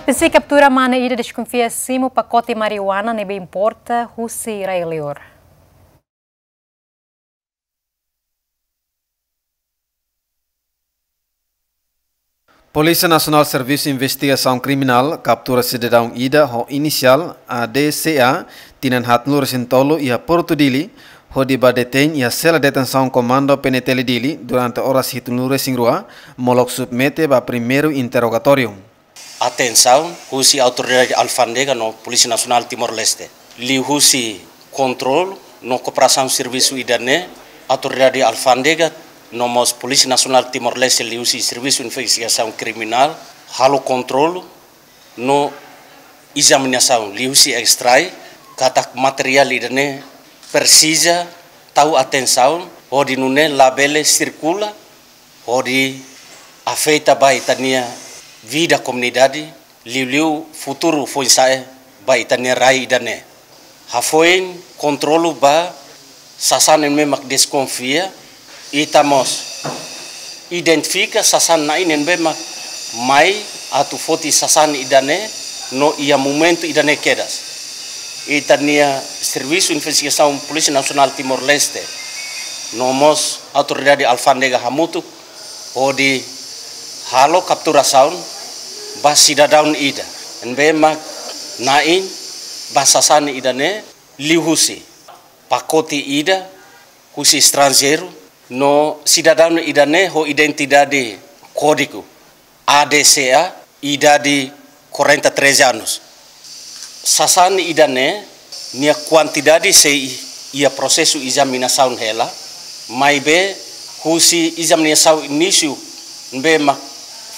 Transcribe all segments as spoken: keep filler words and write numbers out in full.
Polísia kaptura mane ida deskonfia simu pakote marijuana ne'ebé importa husi rai-liur. Polísia Nasionál Servisu Investigasaun Kriminál kaptura sidadaun ida ho inisiál A D C A, tinan haatnulu-resin-tolu, iha Portu Dili, hodi ba detein iha sela detensaun Komandu P N T L Dili durante oras hitunulu-resin-rua, molok submete ba primeiru interrogatóriu. Atensaun husi Autoridade Alfándega no Polísia Nasionál Timor-Leste. Liuhusi kontrolu no kooperasaun servisu ida-ne'e, Autoridade Alfándega no mós Polísia Nasionál Timor-Leste liuhusi Servisu Investigasaun Kriminál halo kontrolu no ezaminasaun liuhusi estrai katak materiál ida-ne'e presiza tau atensaun hodi nune'e labele sirkula hodi afeta ba ita-nia vida komunidade, liuliu futuru foin-sa'e ba ita-nia rai ida-ne'e. Hafoin kontrolu ba sasán ne'ebé mak deskonfia, ita mós identifika sasán na'in ne'ebé mak mai atu foti sasán ida-ne'e no iha momentu ida-ne'e kedas. Ita-nia Servisu Investigasaun Polísia Nasionál Timor-Leste no mós Autoridade Alfándega hamutuk hodi halo kapturasaun ba sidadaun ida ne'ebé mak na'in ba sasán ida-ne'e liuhusi pakote ida husi estranjeiru no sidadaun ida-ne'e ho identidade kódigu A D C A, idade quarenta e três anos. Sasán ida-ne'e nia kuantidade sei iha prosesu ezaminasaun hela, maibé husi ezaminasaun inísiu ne'ebé mak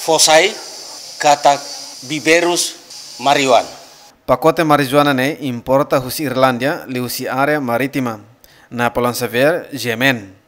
fó sai katak biberus marijuana. Pakote marijuana ne'e importa husi Irlándia, liuhusi área marítima. Napoleon Xavier, G M N.